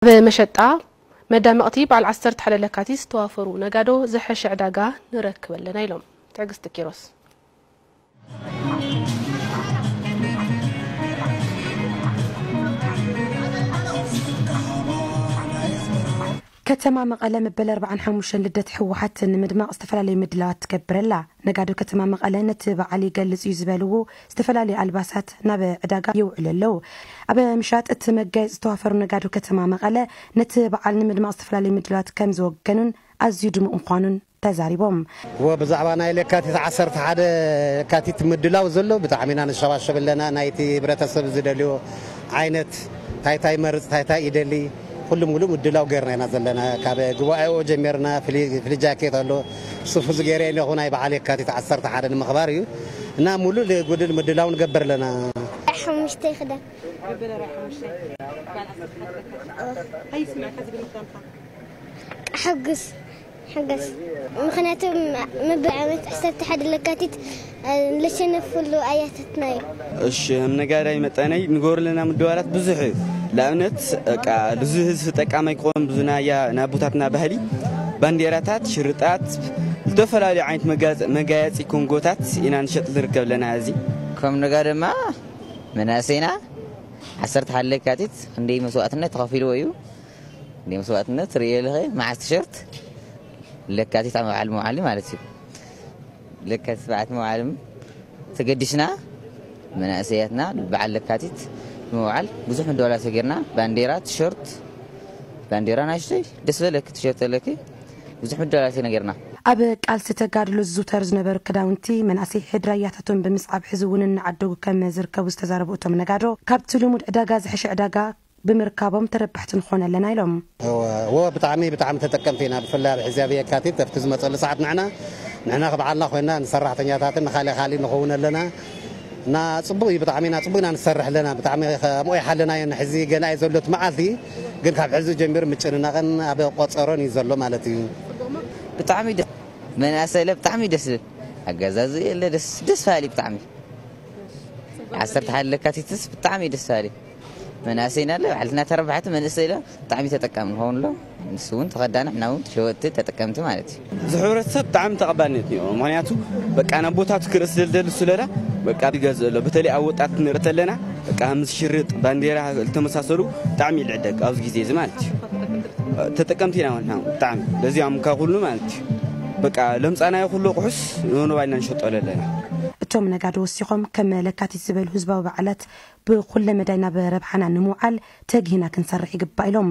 ብመሸጣ መዳመቕቲ በዓል ዓሰርተ ሓደ ለካቲት ዝተዋፈሩ ነጋዶ ዝሐሸ ዕዳጋ ንረክብ ኣለና ኢሎም። ትዕግስቲ ኪሮስ። ከተማ መቐለ መበል ኣርባዓን ሓሙሽተን ልደት ህወሓት ንምድማቕ ዝተፈላለዩ ምድላዋት ትገብር ኣላ። ነጋዶ ከተማ መቐለ ነቲ በዓል ይገልጽ እዩ ዝበልዎ ዝተፈላለዩ ኣልባሳት ናብ ዕዳጋ የውዕሉ ኣለዉ። ኣብ ምሻጥ እቲ መጋየፂ ዝተዋፈሩ ነጋዶ ከተማ መቐለ ነቲ በዓል ንምድማቕ ዝተፈላለዩ ምድላዋት ከም ዝወገኑን ኣዝዩ ድሙቕ ምዃኑን ተዛሪቦም። ወ ብዛዕባ ናይ ለካቲት ዓሰርተ ሓደ ለካቲት ምድላው ዘሎ ብጣዕሚ ኢና ንሸባሸብ ኣለና። ናይቲ ህብረተሰብ ዝደልዮ ዓይነት ታይታይ መርፅ ታይታይ ይደሊ ኩሉ ሙሉ ምድላው ገርና ኢና ዘለና። ካብ ጉባኤኡ ጀሚርና ፍሊ- ፍሊ ጃኬት ኣሎ፣ ሱፍ ዝገይረ ኣለኹ ናይ በዓል የካቲት ዓሰርተ ሓደ ንምኽባር እዩ እና ሙሉ ጉድል ምድላው ንገብር ኣለና። ሓሙሽተ ክዳን ሕጉስ ሕገስ ምክንያቱ ምብዓመት ዓሰርተ ሓደ ለካቲት ለሸነፍሉ ኣያታትና እዩ። እሺ ከም ነጋዳይ መጠነይ ንገብር ለና ምድዋላት ብዙሕ እዩ። ንኣብነት በቃ ብዙ ህዝቢ ተጠቃማይ ክኾን ብዙ ናያ ናቦታትና ባህሊ ባንዴራታት ሽርጣት ዝተፈላለዩ ዓይነት መጋየፂ ኮንጎታት ኢና ንሸጥ ንርከብ ኣለና። እዚ ከም ነጋ ድማ መናእሰይና ዓሰርተ ሓደ ለካቲት ክንደይ መስዋእትነት ተኸፊልዎ እዩ። ክንደይ መስዋእትነት ርእየ ኣለኸ መዓስ ቲሸርት ለካቲት ኣብ በዓል መውዓሊ ማለት እዩ። ለካቲት በዓል መውዓሊ ተገዲስና መናእሰያትና በዓል ለካቲት ምውዓል ብዙሕ ምድዋላት ገርና። ባንዴራ ቲሸርት ባንዴራ ናሽተይ ደስ በለክ ቲሸርት ኣለክ ብዙሕ ምድዋላት ነገርና። ኣብ ቃልሲ ተጋድሎ ዝዝውተሩ ዝነበሩ ክዳውንቲ መናእሰይ ሕድራያታቶም ብምስዓብ ሕዚ እውን እናዓደጉ ከም ዝርከቡ ዝተዛረቡ እቶም ነጋዶ ካብቲ ልሙድ ዕዳጋ ዝሐሸ ዕዳጋ ብምርካቦም ተረባሕቲ ንኾን ኣለና ኢሎም። እወ ብጣዕሚ ብጣዕሚ ተጠቀምቲ ኢና። ብፍላይ ኣብ ሕዚ ኣብ የካቲት ኣብቲ ዝመፀሉ ሰዓት ንዕና ንሕና ክበዓልና ኮይና ንሰራሕተኛታትን ንካሊእ ካሊእ ንኸውን ኣለና እና ፅቡቅ እዩ። ብጣዕሚ ኢና ፅቡቅ ኢና ንሰርሕ ኣለና። ብጣዕሚ ከምኡ ይሓለናዮ ንሕዚ ገና እዩ ዘሎ እቲ መዓልቲ ግን ካብ ሕዚ ጀሚሩ ምጭንናቅን ኣብ ቆፀሮን እዩ ዘሎ ማለት እዩ። ብጣዕሚ ደስ መናእሰይ ለ ብጣዕሚ ደስ ዝብል ኣገዛዝ የለ ደስ ደስ በሃሊ ብጣዕሚ ዓሰርተ ሓደ ለካቲትስ ብጣዕሚ ደስ በሃሊ መናእሰይና ለ ባዕልትና ተረባሕቲ መንእሰይ ለ ብጣዕሚ ተጠቃሚ ንኸውን ሎ ንሱ እውን ተኸዳኒ ሕና እውን ሸወጥቲ ተጠቀምቲ ማለት እዩ። እዚ ሕብረተሰብ ብጣዕሚ ተቐባልነት እኒኦ። ምክንያቱ በቃ ናብ ቦታቱ ክርኢ ስለ ዝደሊ እሱ ለላ በቃ ይገዝእ ኣሎ። በተለይ ኣብ ወጣት ንርኢ ተለና በቃ ምስ ሽርጥ ባንዴራ ዝተመሳሰሉ ብጣዕሚ ይልዕደግ ኣብዚ ግዜ እዚ ማለት እዩ። ተጠቀምቲ ኢና ንሕና ብጣዕሚ በዚኦም ካብ ኩሉ ማለት እዩ። በቃ ለምፃናዮ ኩሉ ኣቑሑስ ንወንባይና ንሸጦ ኣለና። እቶም ነጋዶ ወሲኾም ከም ለካቲት ዝበሉ ህዝባዊ በዓላት ብኩለ መዳይ ናብ ረብሓና ንምውዓል ተግሂና ክንሰርሕ ይግባእ ኢሎም።